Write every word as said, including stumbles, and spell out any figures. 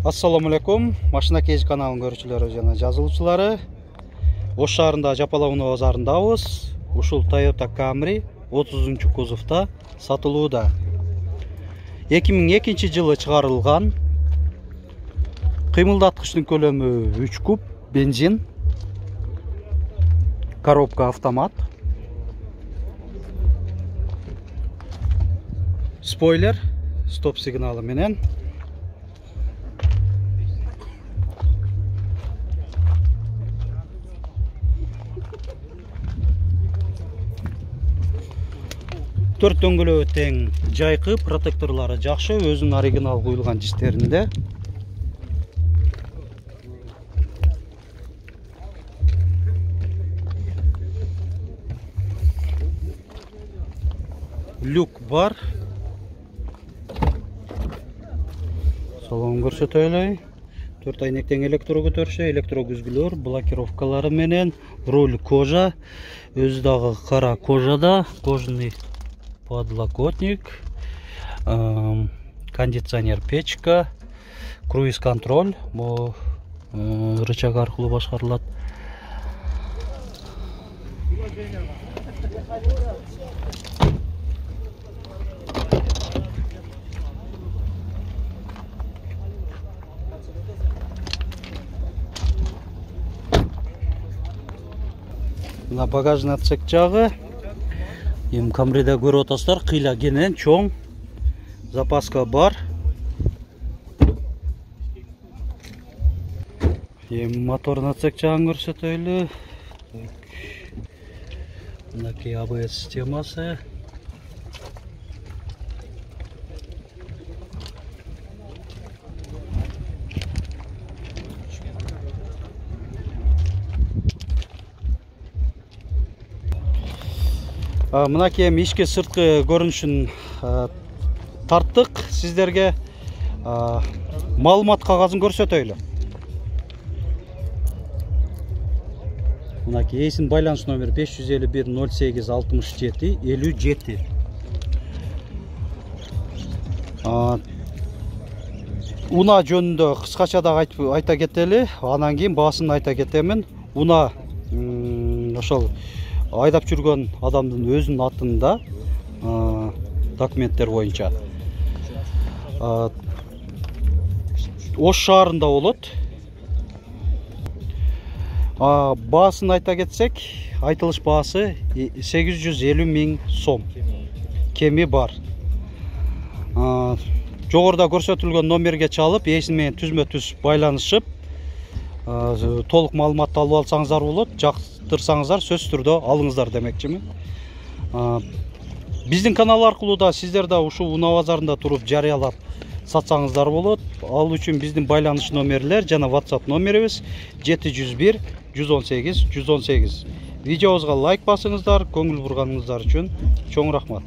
Ассаламу алейкум, машина кез каналын көрүүчүлөрү жана жазылуучулары. Ош шаарында Жапалауна базарындабыз. Ушул Toyota Camry отузунчу кузовта сатылууда. эки миң экинчи жылы чыгарылган. Кыймылдаткычтын көлөмү үч куб, бензин. Коробка автомат. Спойлер, стоп сигналы менен. Төрт дөңгөлөбү тең, жайкы, протекторлары жакшы, өзүнүн оригинал куюлган жиштеринде. Люк бар. Салон көрсөтөлү. Төрт айнектен электро көтөрүшү, электро күзгүлөр, блокировкалары менен, руль кожа, өзү дагы кара кожада, кожаный подлокотник, кондиционер печка, круиз контроль, бу рычаг аркылуу башкарылат. Мына багажный отсек жагы. Эми Камриде көрүп атасыздар, кыйла кенен, чоң. Запаска бар. Эми мотордун отсек жагын көрсөтөлү. Мынакей А Б С системасы. Мынакей эми ички сырткы көрүнүшүн тарттык. Сиздерге маалымат кагазын көрсөтөйлү. Мынакей эсин байланыш номер беш жүз элүү бир ноль сегиз алтымыш жети элүү жети. Уна жөнүндө кыскача да айта кетели, анан кийин баасын айта кетемин. Уна ошол айдап жүргөн адамдын өзүнүн атында документтер боюнча Ош шаарында болот. Баасын айта кетсек, айтылыш баасы сегиз жүз элүү миң сом. Кеми бар. Жогоруда көрсөтүлгөн номерге чалып, ээси менен түзмө-түз байланышып, толук маалыматты алып алсаңыздар болот. Жактырсаңыздар сөзсүз түрдө алыңыздар демекчимин. Биздин канал аркылуу да сиздер да ушул Уна базарында туруп жарыялап сатсаңыздар болот. Ал үчүн биздин байланыш номерлер жана WhatsApp номерибиз жети жүз бир жүз он сегиз жүз он сегиз. Видеобузга лайк басыңыздар, көңүл бурганыңыздар үчүн чоң рахмат.